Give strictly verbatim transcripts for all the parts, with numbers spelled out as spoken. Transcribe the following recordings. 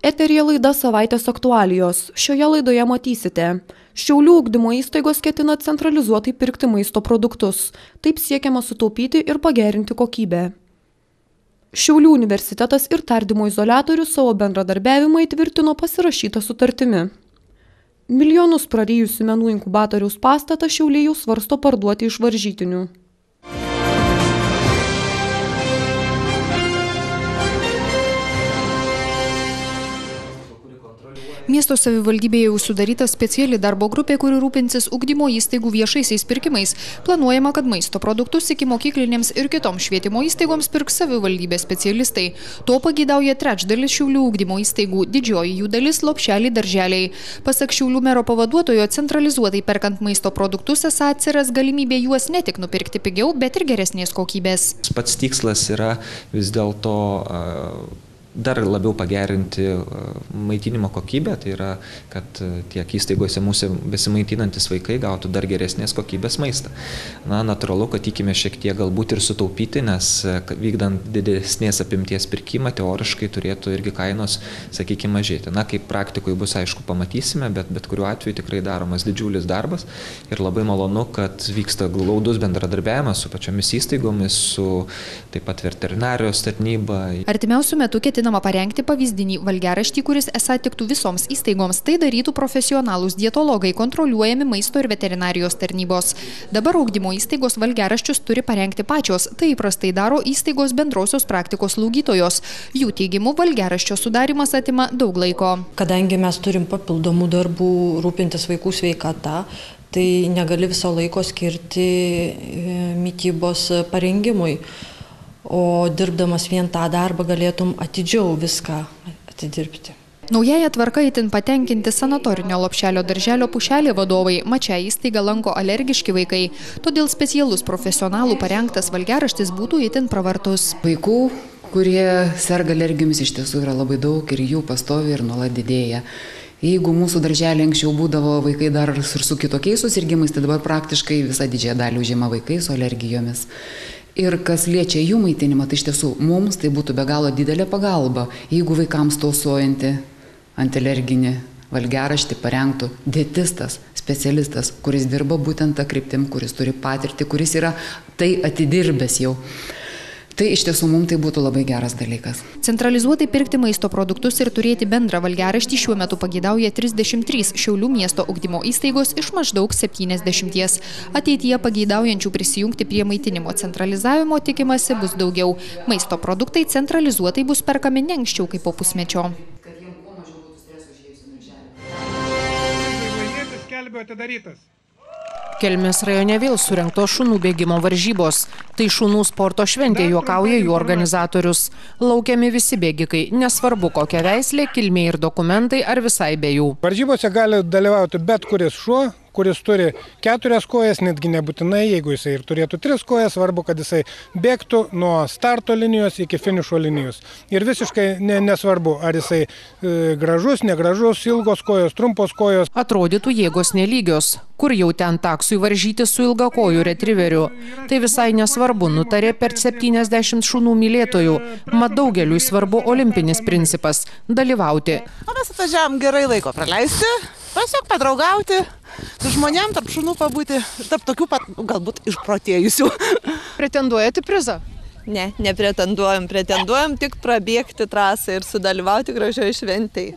Eteryje laida Savaitės aktualijos. Šioje laidoje matysite. Šiaulių ugdymo įstaigos ketina centralizuotai pirkti maisto produktus. Taip siekiama sutaupyti ir pagerinti kokybę. Šiaulių universitetas ir tardymo izoliatorius savo bendradarbiavimą įtvirtino pasirašytą sutartimi. Milijonus prarijusių menų inkubatoriaus pastatą Šiauliai jau svarsto parduoti iš varžytinių. Miesto savivaldybėje jau sudaryta speciali darbo grupė, kuri rūpinsis ugdymo įstaigų viešaisiais pirkimais. Planuojama, kad maisto produktus ikimokyklinėms ir kitoms švietimo įstaigoms pirks savivaldybės specialistai. To pageidauja trečdalis Šiaulių ugdymo įstaigų, didžioji jų dalis lopšeliai darželiai. Pasak Šiaulių mero pavaduotojo, centralizuotai perkant maisto produktus esą atsiras galimybė juos ne tik nupirkti pigiau, bet ir geresnės kokybės. Pats tikslas yra vis dėlto dar labiau pagerinti maitinimo kokybę, tai yra, kad tiek įstaigose mūsų besimaitinantis vaikai gautų dar geresnės kokybės maistą. Na, natūralu, kad tikime šiek tiek galbūt ir sutaupyti, nes vykdant didesnės apimties pirkimą, teoriškai turėtų irgi kainos, sakykime, mažėti. Na, kaip praktikoje bus, aišku, pamatysime, bet bet kuriuo atveju tikrai daromas didžiulis darbas ir labai malonu, kad vyksta glaudus bendradarbiavimas su pačiomis įstaigomis, su taip pat veterinarijos tarnyba. Artimiausiu metu ketinama parengti pavyzdinį valgiaraštį, kuris esą tiktų visoms įstaigoms. Tai darytų profesionalūs dietologai, kontroliuojami maisto ir veterinarijos tarnybos. Dabar ugdymo įstaigos valgiaraščius turi parengti pačios. Tai įprastai daro įstaigos bendrosios praktikos slaugytojos. Jų teigimu, valgiaraščio sudarimas atima daug laiko. Kadangi mes turim papildomų darbų rūpintis vaikų sveikata, tai negali viso laiko skirti mitybos parengimui. O dirbdamas vien tą darbą galėtum atidžiau viską atidirbti. Naująją tvarką itin patenkinti sanatorinio lopšelio darželio Pušelė vadovai. Mat šią įstaigą lanko alergiški vaikai. Todėl specialus profesionalų parengtas valgiaraštis būtų itin pravartus. Vaikų, kurie serga alergijomis, iš tiesų yra labai daug ir jų pastovi ir nuolat didėja. Jeigu mūsų darželė anksčiau būdavo vaikai dar ir su kitokiais susirgimais, tai dabar praktiškai visą didžiąją dalį užima vaikai su alergijomis. Ir kas liečia jų maitinimą, tai iš tiesų mums tai būtų be galo didelė pagalba, jeigu vaikams tausojantį antialerginį valgiaraštį parengtų dietistas, specialistas, kuris dirba būtent tą kryptim, kuris turi patirtį, kuris yra tai atidirbęs jau. Tai iš tiesų mums tai būtų labai geras dalykas. Centralizuotai pirkti maisto produktus ir turėti bendrą valgiaraštį šiuo metu pageidauja trisdešimt trys Šiaulių miesto ugdymo įstaigos iš maždaug septyniasdešimties. Ateityje pageidaujančių prisijungti prie maitinimo centralizavimo tikimasi bus daugiau. Maisto produktai centralizuotai bus perkami ne anksčiau kaip po pusmečio. Kelmės rajone vėl surengtos šunų bėgimo varžybos. Tai šunų sporto šventė, juokauja jų organizatorius. Laukiami visi bėgikai, nesvarbu kokia veislė, kilmė ir dokumentai ar visai be jų. Varžybose gali dalyvauti bet kuris šuo, kuris turi keturias kojas, netgi nebūtinai, jeigu jisai ir turėtų tris kojas, svarbu, kad jisai bėgtų nuo starto linijos iki finišo linijos. Ir visiškai ne, nesvarbu, ar jisai e, gražus, negražus, ilgos kojos, trumpos kojos. Atrodytų jėgos nelygios, kur jau ten taksui varžyti su ilgakojų retriveriu. Tai visai nesvarbu, nutarė per septyniasdešimt šunų mylėtojų. Mat daugeliui svarbu olimpinis principas – dalyvauti. O mes atvažiavom gerai laiko praleisti, tiesiog padraugauti, su žmonėm, tarp šunų pabūti, tarp tokių pat, galbūt išprotėjusių. Pretenduojate prizą? Ne, nepretenduojam, pretenduojam tik prabėgti trasą ir sudalyvauti gražioje šventėje.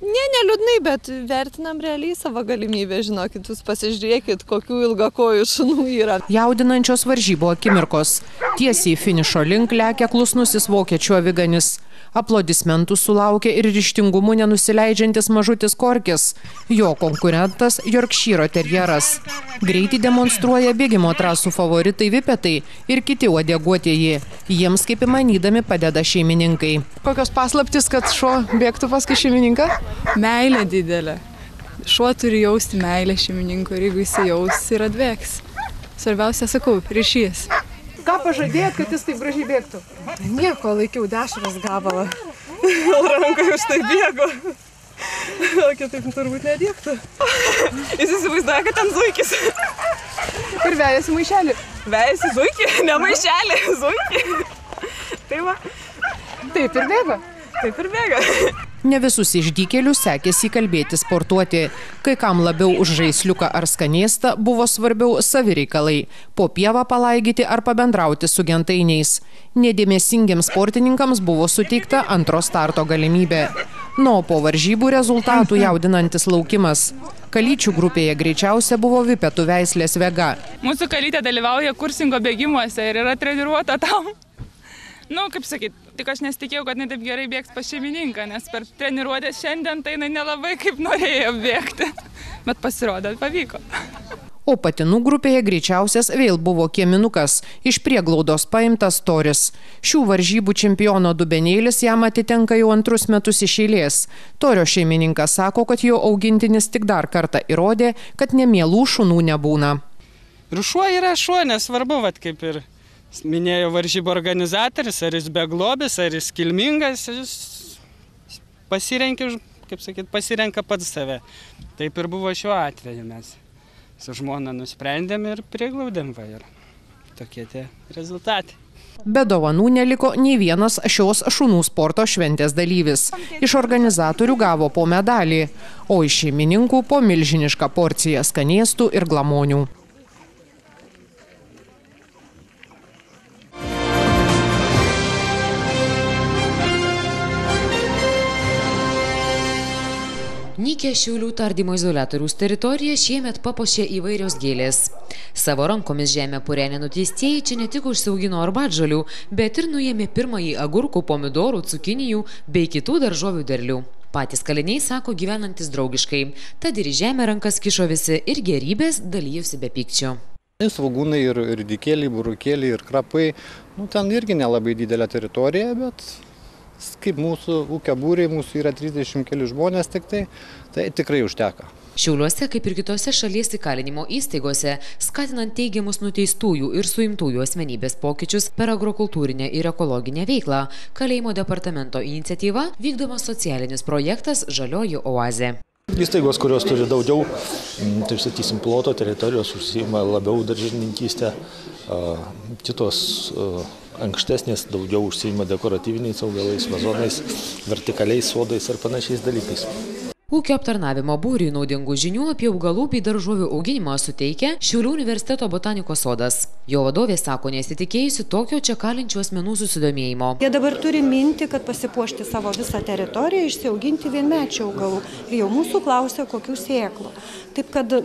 Ne, neliūdnai, bet vertinam realiai savo galimybę, žinokit, jūs pasižiūrėkit, kokių ilgakojų šunų yra. Jaudinančios varžybų akimirkos. Tiesiai finišo link lekia klusnusis vokiečių aviganis. Aplodismentų sulaukė ir ryžtingumu nenusileidžiantis mažutis Korkis. Jo konkurentas Yorkšyro terjeras. Greitį demonstruoja bėgimo trasų favoritai vipetai ir kiti uodeguotieji. Jiems kaip įmanydami padeda šeimininkai. Kokios paslaptys, kad šuo bėgtų paskui šeimininką? Meilė didelė. Šuo turi jausti meilę šeimininko ir jeigu jis jaus ir atbėgs. Svarbiausia, sakau, ryšys. Ką pažadėjot, kad jis taip gražiai bėgtų? Nieko, laikiau dešros gabalą. Rankoje už tai bėgo. O kitaip turbūt nedėktų. Jis įsivaizduoja, kad ten zuikis. Ir vejasi maišelį. Vejasi zuikį, ne maišelį, zuikį. Tai va. Taip ir bėga. Taip ir bėga. Ne visus išdykėlius sekėsi įkalbėti sportuoti. Kai kam labiau už žaisliuką ar skanėstą buvo svarbiau savireikalai – po pievą palaigyti ar pabendrauti su gentainiais. Nedėmesingiems sportininkams buvo suteikta antro starto galimybė. Nu, po varžybų rezultatų jaudinantis laukimas. Kalyčių grupėje greičiausia buvo vipetų veislės Vega. Mūsų kalytė dalyvauja kursingo bėgimuose ir yra treniruota tam. Nu, kaip sakyt, tik aš nesitikėjau, kad jinai taip gerai bėgs pas šeimininką, nes per treniruotę šiandien tai jinai nelabai kaip norėjo bėgti. Bet pasirodė, pavyko. O patinų grupėje greičiausias vėl buvo kieminukas, iš prieglaudos paimtas Toris. Šių varžybų čempiono dubenėlis jam atitenka jau antrus metus iš eilės. Torio šeimininkas sako, kad jo augintinis tik dar kartą įrodė, kad nemielų šunų nebūna. Ir šuo yra šuo, nesvarbu, vat, kaip ir minėjo varžybų organizatorius, ar jis beglobis, ar jis kilmingas, jis pasirenka, kaip sakyt, pasirenka pats save. Taip ir buvo šiuo atveju, mes su žmona nusprendėm ir priglaudėm, va, ir tokie tie rezultatai. Be dovanų neliko nei vienas šios šunų sporto šventės dalyvis. Iš organizatorių gavo po medalį, o iš šeimininkų po milžinišką porciją skanėstų ir glamonių. Nykią Šiaulių tardymo izoliatoriaus teritoriją šiemet papuošė įvairios gėlės. Savo rankomis žemę purenę nuteistieji čia ne tik užsiaugino arbatžolių, bet ir nuėmė pirmąjį agurkų, pomidorų, cukinijų bei kitų daržovių derlių. Patys kaliniai sako gyvenantis draugiškai, tad ir į žemę rankas kišo visi ir gerybės dalyjosi be pykčio. Svogūnai ir, ir dikėliai, burukėliai ir krapai, nu, ten irgi nelabai didelė teritorija, bet kaip mūsų ūkio būriai, mūsų yra trisdešimt keli žmonės tik tai, tai tikrai užteka. Šiauliuose, kaip ir kitose šalies įkalinimo įstaigose, skatinant teigiamus nuteistųjų ir suimtųjų asmenybės pokyčius per agrokultūrinę ir ekologinę veiklą, kalėjimo departamento iniciatyva vykdomas socialinis projektas Žalioji oazė. Įstaigos, kurios turi daugiau, taip sakysim, ploto teritorijos, užsiima labiau daržininkystę, kitos ankštesnės daugiau užsiima dekoratyviniais augalais, vazonais, vertikaliais sodais ir panašiais dalykais. Ūkio aptarnavimo būriui naudingų žinių apie augalų bei daržovių auginimą suteikia Šiaulių universiteto botanikos sodas. Jo vadovė sako nesitikėjusi tokio čia kalinčių asmenų susidomėjimo. Jie dabar turi mintį, kad pasipuošti savo visą teritoriją, išsiauginti vienmečių augalų. Ir jau mūsų klausia, kokių sėklų. Taip kad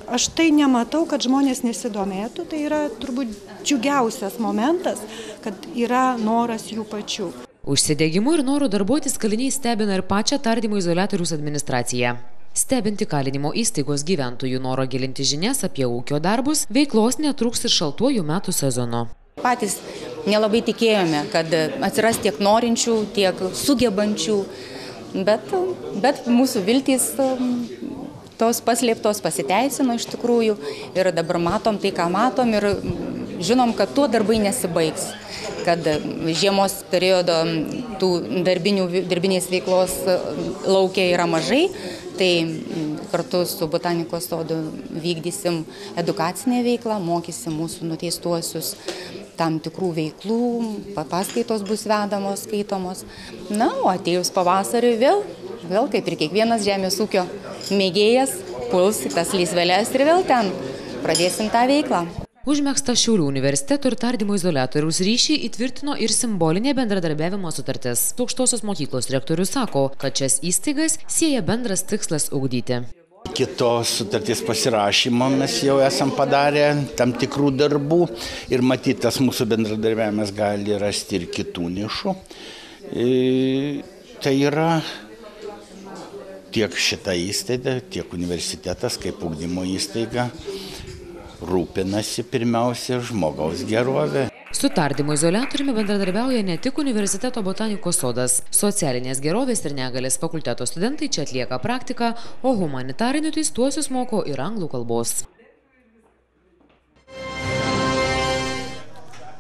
aš tai nematau, kad žmonės nesidomėtų. Tai yra turbūt džiugiausias momentas, kad yra noras jų pačių. Užsidegimu ir noru darbuotis kaliniai stebina ir pačią tardymo izoliatoriaus administraciją. Stebinti kalinimo įstaigos gyventojų noro gilinti žinias apie ūkio darbus, veiklos netrūks ir šaltuoju metų sezonu. Patys nelabai tikėjome, kad atsiras tiek norinčių, tiek sugebančių, bet, bet mūsų viltys tos paslėptos pasiteisino iš tikrųjų ir dabar matom tai, ką matom ir žinom, kad tuo darbai nesibaigs, kad žiemos periodo tų darbinių, darbinės veiklos laukia yra mažai, tai kartu su botanikos sodu vykdysim edukacinę veiklą, mokysim mūsų nuteistuosius tam tikrų veiklų, paskaitos bus vedamos, skaitomos. Na, o atėjus pavasariui vėl, vėl kaip ir kiekvienas žemės ūkio mėgėjas, puls į tas lysveles ir vėl ten pradėsim tą veiklą. Užmegzta Šiaulių universiteto ir tardymo izoliatoriaus ryšį įtvirtino ir simbolinė bendradarbiavimo sutartis. Aukštosios mokyklos rektorius sako, kad šias įstaigas sieja bendras tikslas ugdyti. Kitos sutarties pasirašymo mes jau esam padarę tam tikrų darbų ir matyt, tas mūsų bendradarbiavimas gali rasti ir kitų nišų. E, tai yra tiek šita įstaiga, tiek universitetas kaip ugdymo įstaiga rūpinasi pirmiausia žmogaus gerovė. Su tardymo izoliatoriumi bendradarbiauja ne tik universiteto botanikos sodas. Socialinės gerovės ir negalės fakulteto studentai čia atlieka praktiką, o humanitarinių teistuosius moko ir anglų kalbos.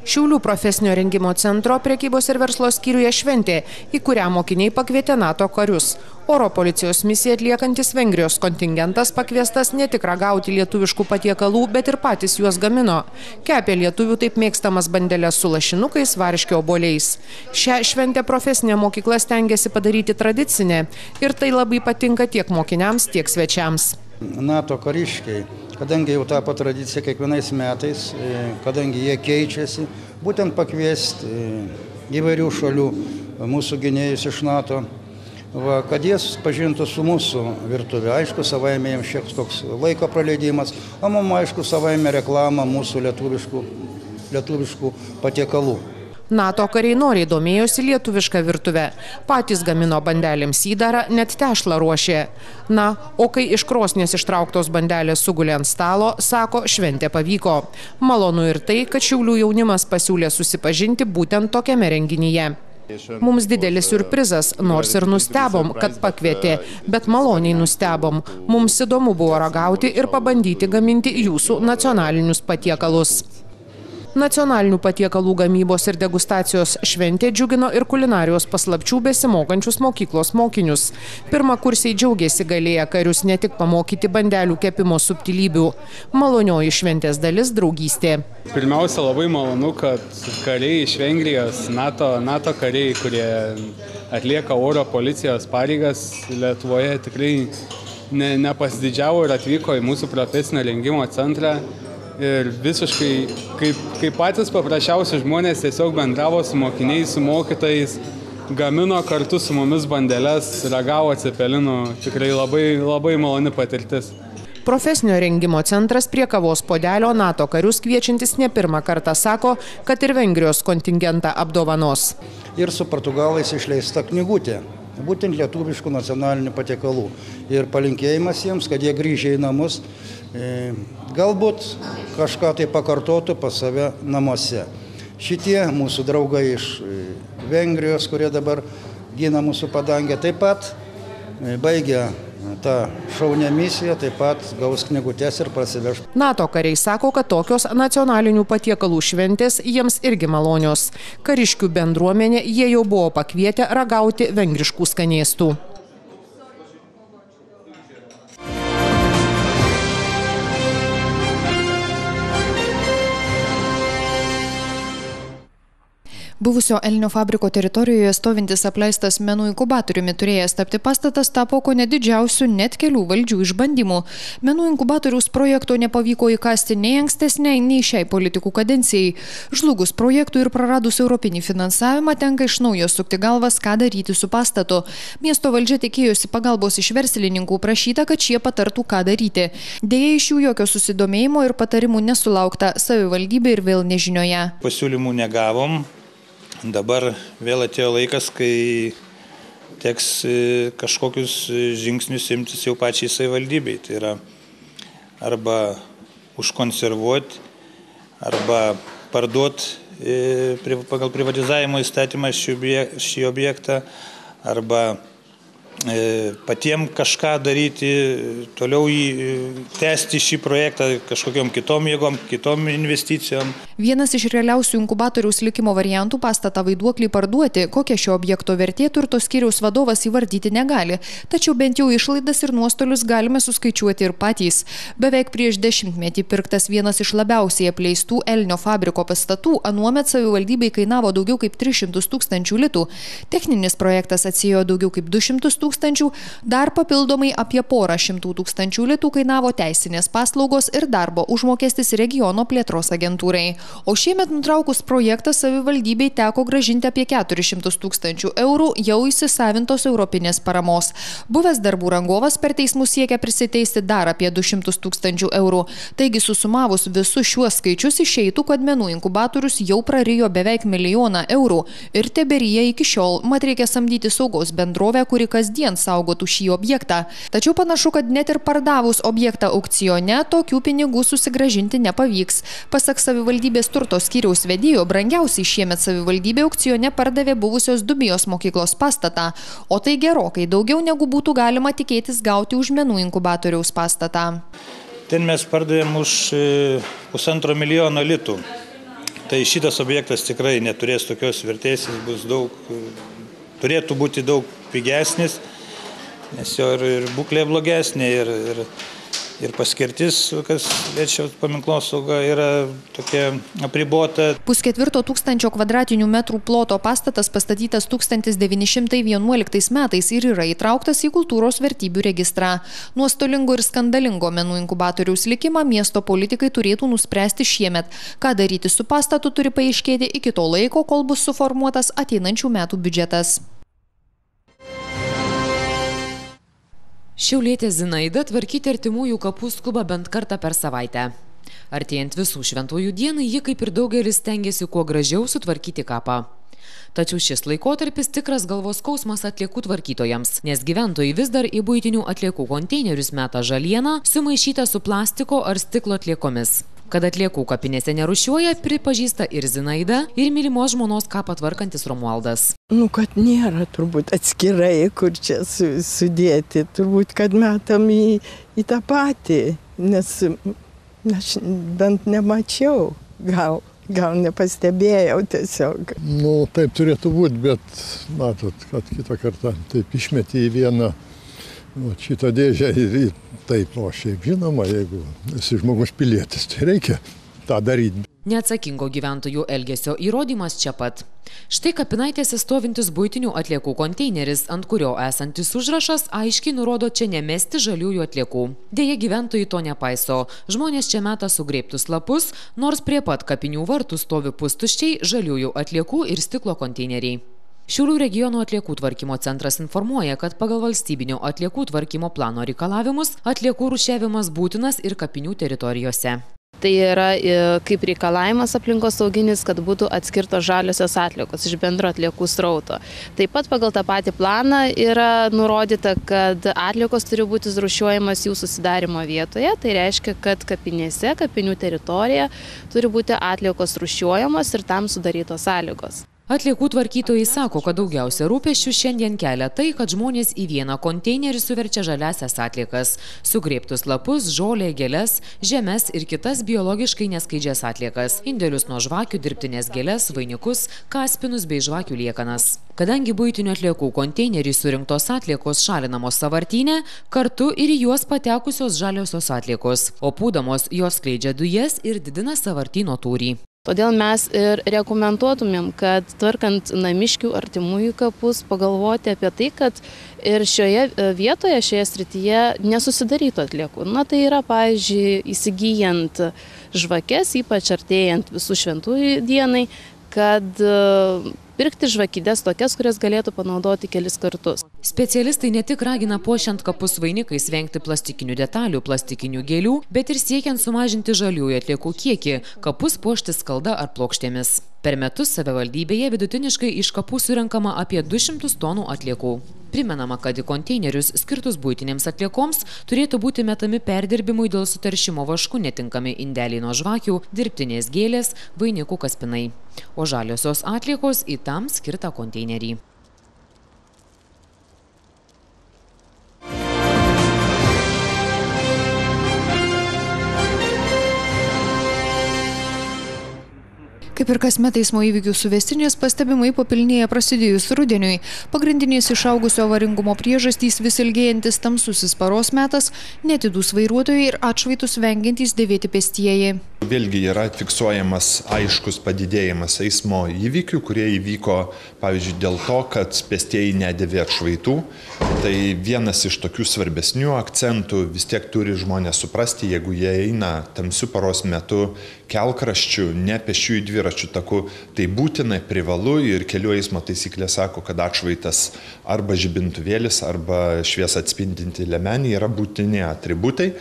Šiaulių profesinio rengimo centro prekybos ir verslo skyriuje šventė, į kurią mokiniai pakvietė NATO karius. Oro policijos misiją atliekantis Vengrijos kontingentas pakviestas ne tik ragauti lietuviškų patiekalų, bet ir patys juos gamino. Kepė lietuvių taip mėgstamas bandeles su lašinukais, varškio obuoliais. Šią šventę profesinė mokykla stengiasi padaryti tradicinę ir tai labai patinka tiek mokiniams, tiek svečiams. NATO kariškiai, kadangi jau tapo tradicija kiekvienais metais, kadangi jie keičiasi, būtent pakviesti įvairių šalių mūsų gynėjus iš NATO, va, kad jie pažintų su mūsų virtuvė. Aišku, savaime jiems šiek toks laiko praleidimas, o mums aišku savaime reklama mūsų lietuviškų, lietuviškų patiekalų. NATO kariai noriai domėjosi lietuvišką virtuvę. Patys gamino bandelėms įdarą, net tešlą ruošė. Na, o kai iš krosnės ištrauktos bandelės sugulė ant stalo, sako, šventė pavyko. Malonu ir tai, kad Šiaulių jaunimas pasiūlė susipažinti būtent tokiame renginyje. Mums didelis siurprizas, nors ir nustebom, kad pakvietė, bet maloniai nustebom. Mums įdomu buvo ragauti ir pabandyti gaminti jūsų nacionalinius patiekalus. Nacionalinių patiekalų gamybos ir degustacijos šventė džiugino ir kulinarijos paslapčių besimokančius mokyklos mokinius. Pirmakursiai džiaugiasi galėję karius ne tik pamokyti bandelių kepimo subtilybių. Malonioji šventės dalis – draugystė. Pirmiausia, labai malonu, kad kariai iš Vengrijos, NATO, NATO kariai, kurie atlieka oro policijos pareigas Lietuvoje, tikrai ne, nepasididžiavo ir atvyko į mūsų profesinio rengimo centrą. Ir visiškai, kaip, kaip patys paprasčiausi žmonės, tiesiog bendravo su mokiniais, su mokytojais, gamino kartu su mumis bandeles, ragavo cepelinų, tikrai labai, labai maloni patirtis. Profesinio rengimo centras prie kavos puodelio NATO karius kviečiantis ne pirmą kartą sako, kad ir Vengrijos kontingentą apdovanos. Ir su portugalais išleista knygutė, būtent lietuviškų nacionalinių patiekalų. Ir palinkėjimas jiems, kad jie grįžę į namus, galbūt kažką tai pakartotų pas save namuose. Šitie mūsų draugai iš Vengrijos, kurie dabar gina mūsų padangę, taip pat baigia tą šaunę misiją, taip pat gaus knygutes ir prasiveš. NATO kariai sako, kad tokios nacionalinių patiekalų šventės jiems irgi malonios. Kariškių bendruomenė jie jau buvo pakvietę ragauti vengriškų skanėstų. Buvusio Elnio fabriko teritorijoje stovintis apleistas menų inkubatoriumi turėjęs tapti pastatas tapo kone didžiausių net kelių valdžių išbandymų. Menų inkubatoriaus projekto nepavyko įkasti nei ankstesniai, nei šiai politikų kadencijai. Žlugus projektų ir praradus europinį finansavimą tenka iš naujo sukti galvas, ką daryti su pastatu. Miesto valdžia tikėjosi pagalbos iš verslininkų, prašyta, kad šie patartų, ką daryti. Deja, iš jų jokio susidomėjimo ir patarimų nesulaukta, savivaldybė ir vėl nežinioje. Pasiūlymų negavom. Dabar vėl atėjo laikas, kai teks kažkokius žingsnius imtis jau pačiai savivaldybei. Tai yra arba užkonservuoti, arba parduoti pagal privatizavimo įstatymą šį objektą, arba patiem kažką daryti, toliau jį tęsti šį projektą kažkokiom kitom jėgom, kitom investicijom. Vienas iš realiausių inkubatoriaus likimo variantų pastatą Vaiduoklį parduoti, kokia šio objekto vertė turto skyriaus vadovas įvardyti negali, tačiau bent jau išlaidas ir nuostolius galime suskaičiuoti ir patys. Beveik prieš dešimtmetį pirktas vienas iš labiausiai apleistų Elnio fabriko pastatų anuomet savivaldybei kainavo daugiau kaip tris šimtus tūkstančių litų. Techninis projektas atsiėjo daugiau kaip du šimtus tūkstančių, dar papildomai apie porą šimtų tūkstančių litų kainavo teisinės paslaugos ir darbo užmokestis regiono plėtros agentūrai. O šiemet nutraukus projektą savivaldybei teko grąžinti apie keturis šimtus tūkstančių eurų jau įsisavintos europinės paramos. Buvęs darbų rangovas per teismus siekia prisiteisti dar apie du šimtus tūkstančių eurų. Taigi susumavus visus šiuos skaičius išeitų, kad menų inkubatorius jau prarijo beveik milijoną eurų ir teberyja iki šiol, mat reikia samdyti saugos bendrovę, kuri kasdien saugotų šį objektą. Tačiau panašu, kad net ir pardavus objektą aukcione, tokių pinigų susigrąžinti nepavyks. Pasak savivaldybės turto skyriaus vedėjo, brangiausiai šiemet savivaldybė aukcione pardavė buvusios Dubijos mokyklos pastatą, o tai gerokai daugiau negu būtų galima tikėtis gauti už menų inkubatoriaus pastatą. Ten mes pardavėm už pusantro milijono litų. Tai šitas objektas tikrai neturės tokios vertės, jis bus daug, turėtų būti daug pigesnis, nes jo ir, ir būklė blogesnė, ir, ir, ir paskirtis, kas liečia paminklosaugą, yra tokia apribota. Pusketvirto tūkstančio kvadratinių metrų ploto pastatas pastatytas tūkstantis devyni šimtai vienuoliktais metais ir yra įtrauktas į kultūros vertybių registrą. Nuostolingo ir skandalingo menų inkubatoriaus likimą miesto politikai turėtų nuspręsti šiemet. Ką daryti su pastatu turi paaiškėti iki to laiko, kol bus suformuotas ateinančių metų biudžetas. Šiaulietė Zinaida tvarkyti artimųjų kapų skuba bent kartą per savaitę. Artėjant visų šventųjų dienai, ji kaip ir daugelis stengiasi kuo gražiau sutvarkyti kapą. Tačiau šis laikotarpis tikras galvos skausmas atliekų tvarkytojams, nes gyventojai vis dar į buitinių atliekų konteinerius meta žalieną, sumaišytą su plastiko ar stiklo atliekomis. Kad atliekų kapinėse nerūšiuoja, pripažįsta ir Zinaida, ir mylimos žmonos kapą tvarkantis Romualdas. Nu, kad nėra turbūt atskirai, kur čia sudėti, turbūt, kad metam į, į tą patį, nes aš bent nemačiau, gal, gal nepastebėjau tiesiog. Nu, taip turėtų būti, bet matot, kad kitą kartą taip išmetė į vieną o, šitą dėžę ir į taip, o šiaip žinoma, jeigu esi žmogus pilietis, tai reikia tą daryti. Neatsakingo gyventojų elgesio įrodymas čia pat. Štai kapinaitėse stovintis buitinių atliekų konteineris, ant kurio esantis užrašas aiškiai nurodo čia nemesti žaliųjų atliekų. Deja, gyventojai to nepaiso. Žmonės čia meta sugrėbtus lapus, nors prie pat kapinių vartų stovi pustuščiai žaliųjų atliekų ir stiklo konteineriai. Šiaulių regiono atliekų tvarkymo centras informuoja, kad pagal valstybinio atliekų tvarkymo plano reikalavimus atliekų rūšiavimas būtinas ir kapinių teritorijose. Tai yra kaip reikalavimas aplinkosauginis, kad būtų atskirtos žaliosios atliekos iš bendro atliekų srauto. Taip pat pagal tą patį planą yra nurodyta, kad atliekos turi būti rūšiuojamas jų susidarimo vietoje. Tai reiškia, kad kapinėse, kapinių teritorija turi būti atliekos rūšiuojamos ir tam sudarytos sąlygos. Atliekų tvarkytojai sako, kad daugiausia rūpesčių šiandien kelia tai, kad žmonės į vieną konteinerį suverčia žaliasias atliekas, sugrėbtus lapus, žolę, gėles, žemes ir kitas biologiškai neskaidžias atliekas, indėlius nuo žvakių, dirbtinės gėles, vainikus, kaspinus bei žvakių liekanas. Kadangi buitinių atliekų konteinerį surinktos atliekos šalinamos sąvartyne, kartu ir į juos patekusios žaliosios atliekos, o pūdamos jos skleidžia dujas ir didina sąvartyno tūrį. Todėl mes ir rekomenduotumėm, kad tvarkant namiškių artimųjų kapus pagalvoti apie tai, kad ir šioje vietoje, šioje srityje nesusidarytų atliekų. Na tai yra, pavyzdžiui, įsigijant žvakes, ypač artėjant visų šventųjų dienai, kad pirkti žvakides tokias, kurias galėtų panaudoti kelis kartus. Specialistai ne tik ragina puošiant kapus vainikais vengti plastikinių detalių, plastikinių gėlių, bet ir siekiant sumažinti žaliųjų atliekų kiekį, kapus puošti skalda ar plokštėmis. Per metus savivaldybėje vidutiniškai iš kapų surenkama apie du šimtus tonų atliekų. Primenama, kad į konteinerius skirtus buitinėms atliekoms turėtų būti metami perdirbimui dėl suteršimo vašku netinkami indeliai nuo žvakių, dirbtinės gėlės, vainikų kaspinai. O žaliosios atliekos į tam skirtą konteinerį. Kaip ir kasmet eismo įvykių suvestinės pastebimai papilnėja prasidėjus rudeniui. Pagrindinės išaugusio avaringumo priežastys vis ilgėjantis tamsusis paros metas, netidūs vairuotojai ir atšvaitus vengiantys dėvėti pėstieji. Vėlgi yra fiksuojamas aiškus padidėjimas eismo įvykių, kurie įvyko, pavyzdžiui, dėl to, kad pėstieji nedėvė atšvaitų. Tai vienas iš tokių svarbesnių akcentų, vis tiek turi žmonės suprasti, jeigu jie eina tamsiu paros metu kelkraščiu, ne pėsčiųjų dviračių taku, tai būtinai privalu ir kelių eismo taisyklė sako, kad atšvaitas arba žibintuvėlis, arba šviesą atspindinti liemenį yra būtini atributai.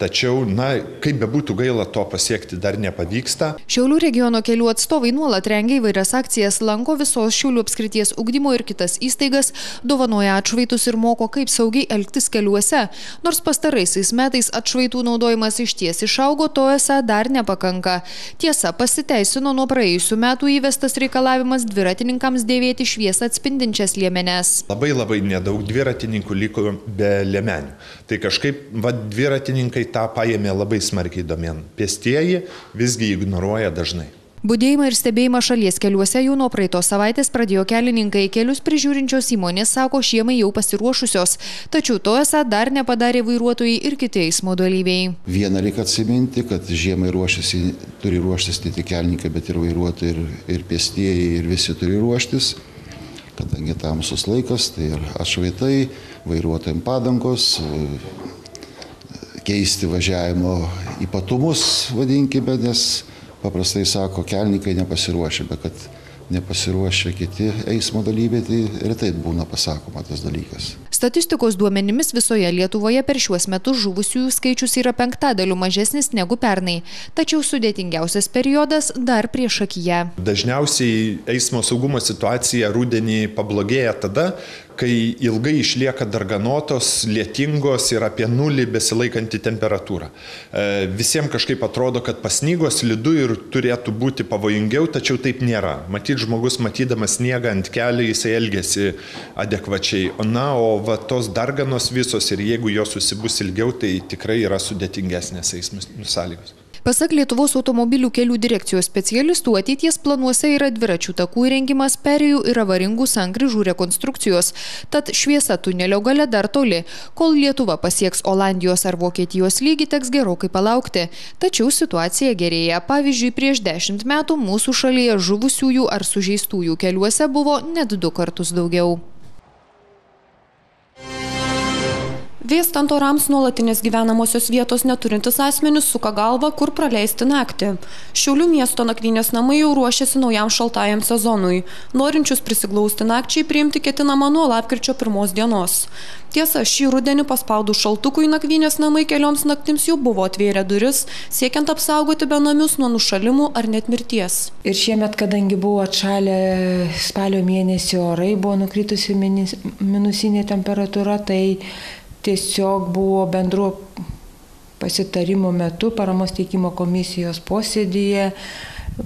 Tačiau, na, kaip bebūtų gaila, to pasiekti dar nepavyksta. Šiaulių regiono kelių atstovai nuolat rengia įvairias akcijas, lanko visos Šiaulių apskrities ugdymo ir kitas įstaigas, dovanoja atšvaitus ir moko, kaip saugiai elgtis keliuose. Nors pastaraisiais metais atšvaitų naudojimas išties išaugo, to esą dar nepakanka. Tiesa, pasiteisino nuo praėjusių metų įvestas reikalavimas dviratininkams dėvėti šviesą atspindinčias liemenes. Labai labai nedaug dviratininkų liko be liemenių. Tai kažkaip, va, dviratininkai tą paėmė labai smarkiai domėn. Pėstieji visgi ignoruoja dažnai. Budėjimą ir stebėjimą šalies keliuose jau nuo praeitos savaitės pradėjo kelininkai. Kelius prižiūrinčios įmonės sako, žiemai jau pasiruošusios. Tačiau to esą dar nepadarė vairuotojai ir kiti eismo dalyviai. Viena reikia atsiminti, kad žiemai ruošiasi, turi ruoštis ne tik kelininkai, bet ir vairuotojai, ir, ir pėstieji, ir visi turi ruoštis. Kadangi tamsus laikas, tai ir atšvaitai, vairuotojams padangos, keisti važiavimo ypatumus, vadinkime, nes paprastai sako, kelininkai nepasiruošę, bet kad nepasiruošę kiti eismo dalyviai, tai retai būna pasakoma tas dalykas. Statistikos duomenimis visoje Lietuvoje per šiuos metus žuvusiųjų skaičius yra penktadaliu mažesnis negu pernai. Tačiau sudėtingiausias periodas dar priešakyje. Dažniausiai eismo saugumo situacija rudenį pablogėja tada, kai ilgai išlieka darganotos, lietingos ir apie nulį besilaikanti temperatūra. Visiems kažkaip atrodo, kad pasnygo, slidu ir turėtų būti pavojingiau, tačiau taip nėra. Matyt, žmogus matydamas sniegą ant kelio, jisai elgiasi adekvačiai. Na, o va, tos darganos visos ir jeigu jos susibus ilgiau, tai tikrai yra sudėtingesnės eismo sąlygos. Pasak Lietuvos automobilių kelių direkcijos specialistų, ateities planuose yra dviračių takų įrengimas, perėjų ir avaringų sankryžų rekonstrukcijos. Tad šviesa tunelio gale dar toli. Kol Lietuva pasieks Olandijos ar Vokietijos lygį, teks gerokai palaukti. Tačiau situacija gerėja. Pavyzdžiui, prieš dešimt metų mūsų šalyje žuvusiųjų ar sužeistųjų keliuose buvo net du kartus daugiau. Vėstant orams nuolatinės gyvenamosios vietos neturintis asmenys suka galvą, kur praleisti naktį. Šiaulių miesto nakvynės namai jau ruošiasi naujam šaltajam sezonui. Norinčius prisiglausti nakčiai priimti ketinama nuo lapkričio pirmos dienos. Tiesa, šį rudenį paspaudų šaltukui nakvynės namai kelioms naktims jau buvo atvėrę duris, siekiant apsaugoti benamius nuo nušalimų ar net mirties. Ir šiemet, kadangi buvo atšalę spalio mėnesį orai, buvo nukritusi minusinė temperatūra, tai tiesiog buvo bendro pasitarimo metu paramos teikimo komisijos posėdyje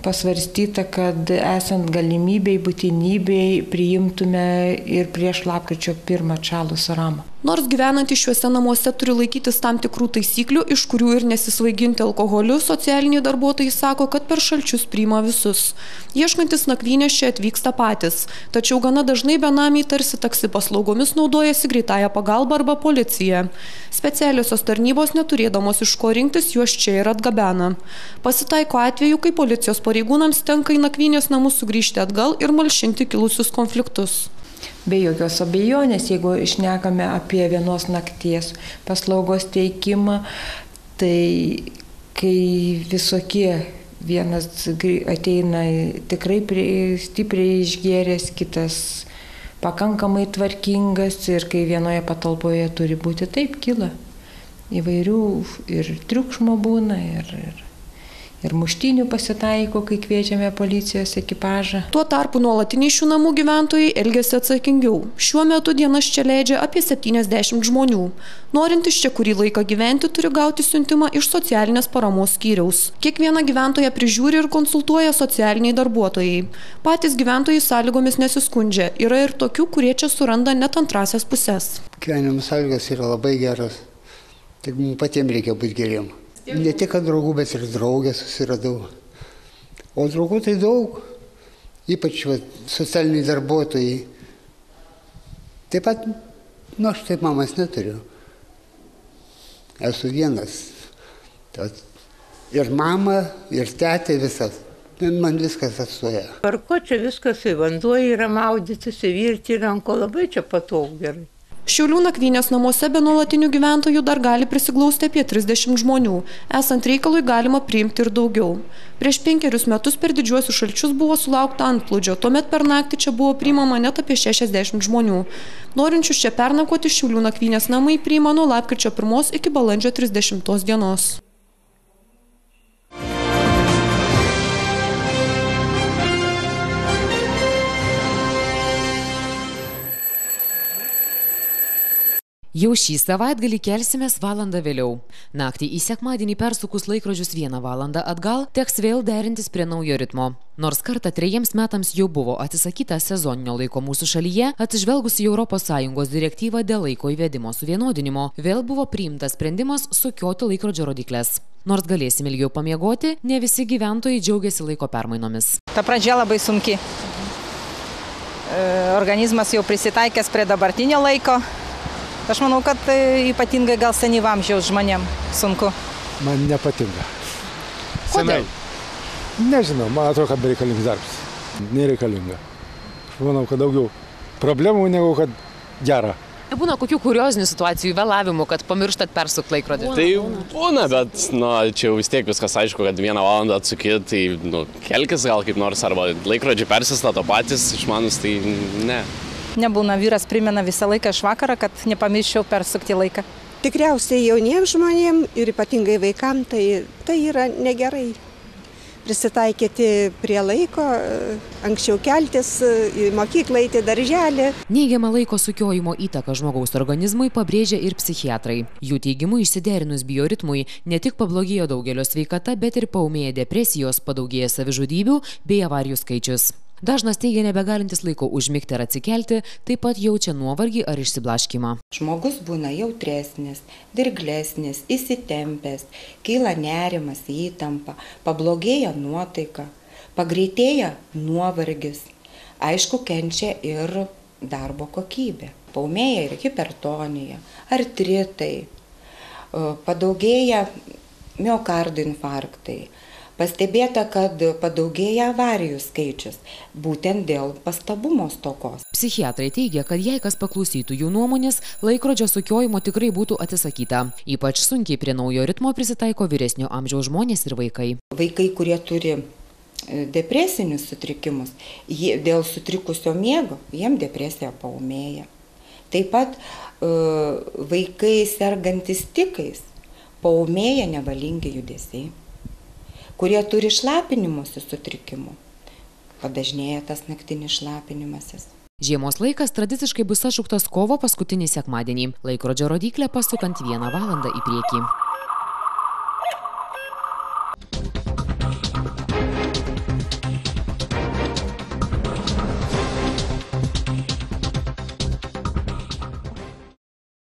pasvarstyta, kad esant galimybei, būtinybei priimtume ir prieš lapkričio pirmą atšalus oram. Nors gyvenantys šiuose namuose turi laikytis tam tikrų taisyklių, iš kurių ir nesisvaiginti alkoholiu, socialiniai darbuotojai sako, kad per šalčius priima visus. Ieškantis nakvynės čia atvyksta patys, tačiau gana dažnai benamiai tarsi taksi paslaugomis naudojasi greitąją pagalbą arba policija. Specialiosios tarnybos neturėdamos iš ko rinktis, juos čia ir atgabena. Pasitaiko atveju, kai policijos pareigūnams tenka į nakvynės namus sugrįžti atgal ir malšinti kilusius konfliktus. Be jokios abejonės, jeigu išnekame apie vienos nakties paslaugos teikimą, tai kai visokie vienas ateina tikrai stipriai išgėręs, kitas pakankamai tvarkingas ir kai vienoje patalpoje turi būti taip, kyla įvairių ir triukšmo būna, ir, ir Ir muštinių pasitaiko, kai kviečiame policijos ekipažą. Tuo tarpu nuolatiniai šių namų gyventojai elgiasi atsakingiau. Šiuo metu dienas čia leidžia apie septyniasdešimt žmonių. Norintys čia kurį laiką gyventi, turi gauti siuntimą iš socialinės paramos skyriaus. Kiekvieną gyventoją prižiūri ir konsultuoja socialiniai darbuotojai. Patys gyventojai sąlygomis nesiskundžia. Yra ir tokių, kurie čia suranda net antrasias puses. Gyvenimo sąlygos yra labai geros. Tik mums patiems reikia būti geriem. Ne tik draugų, bet ir draugę susiradau. O draugų tai daug, ypač va, socialiniai darbuotojai. Taip pat, nu aš taip mamas neturiu. Esu vienas. Tad ir mama, ir tetė visas. Man viskas atstoja. Parko čia viskas į vanduo yra maudytis, įvirti ranko, labai čia patogu gerai. Šiaulių nakvynės namuose be nuolatinių gyventojų dar gali prisiglausti apie trisdešimt žmonių. Esant reikalui galima priimti ir daugiau. Prieš penkerius metus per didžiuosius šalčius buvo sulaukta antplūdžio. Tuomet per naktį čia buvo priimama net apie šešiasdešimt žmonių. Norinčius čia pernakvoti Šiaulių nakvynės namai priima nuo lapkričio pirmos iki balandžio trisdešimtos dienos. Jau šį savaitgalį kelsimės valandą vėliau. Naktį į sekmadienį persukus laikrodžius vieną valandą atgal, teks vėl derintis prie naujo ritmo. Nors kartą trejiems metams jau buvo atsisakyta sezoninio laiko mūsų šalyje, atsižvelgus į Europos Sąjungos direktyvą dėl laiko įvedimo suvienodinimo, vėl buvo priimtas sprendimas sukioti laikrodžio rodyklės. Nors galėsim ilgiau pamiegoti, ne visi gyventojai džiaugiasi laiko permainomis. Ta pradžia labai sunki. Organizmas jau prisitaikęs prie dabartinio laiko. Aš manau, kad ypatingai gal senyvo amžiaus žmonėm sunku. Man nepatinka. Senai. Nežinau, man atrodo, kad bereikalingas darbas. Nereikalinga. Aš manau, kad daugiau problemų negu kad gera. Būna kokių kuriozinių situacijų, vėlavimų, kad pamirštat persukti laikrodį? Tai būna, bet nu, čia jau vis tiek viskas aišku, kad vieną valandą atsuki, tai nu, kelkis gal kaip nors, arba laikrodžiai persistato patys, išmanus, tai ne. Nebūna, vyras primena visą laiką iš vakarą, kad nepamirščiau persukti laiką. Tikriausiai jauniems žmonėms ir ypatingai vaikams tai, tai yra negerai. Prisitaikyti prie laiko, anksčiau keltis, į mokyklą, į darželį. Neigiamą laiko sukiojimo įtaką žmogaus organizmui pabrėžia ir psichiatrai. Jų teigimu išsiderinus bioritmui ne tik pablogėjo daugelio sveikata, bet ir paūmėja depresijos, padaugėja savižudybių bei avarijų skaičius. Dažnas teigia nebegalintis laiko užmigti ar atsikelti, taip pat jaučia nuovargį ar išsiblaškymą. Žmogus būna jautresnis, dirglesnis, įsitempęs, kyla nerimas, įtampa, pablogėja nuotaika, pagreitėja nuovargis. Aišku, kenčia ir darbo kokybė. Paūmėja ir hipertonija, artritai, padaugėja miokardo infarktai. Pastebėta, kad padaugėja avarijų skaičius, būtent dėl pastabumo stokos. Psichiatrai teigia, kad jei kas paklausytų jų nuomonės, laikrodžio sukiojimo tikrai būtų atsisakyta. Ypač sunkiai prie naujo ritmo prisitaiko vyresnio amžiaus žmonės ir vaikai. Vaikai, kurie turi depresinius sutrikimus, jie, dėl sutrikusio miego, jiem depresija paūmėja. Taip pat vaikai sergantis tikais paūmėja nevalingi judesiai. Kurie turi šlapinimosi sutrikimų, padažnėja tas naktinis šlapinimasis. Žiemos laikas tradiciškai bus atšauktas kovo paskutinį sekmadienį, laikrodžio rodyklę pasukant vieną valandą į priekį.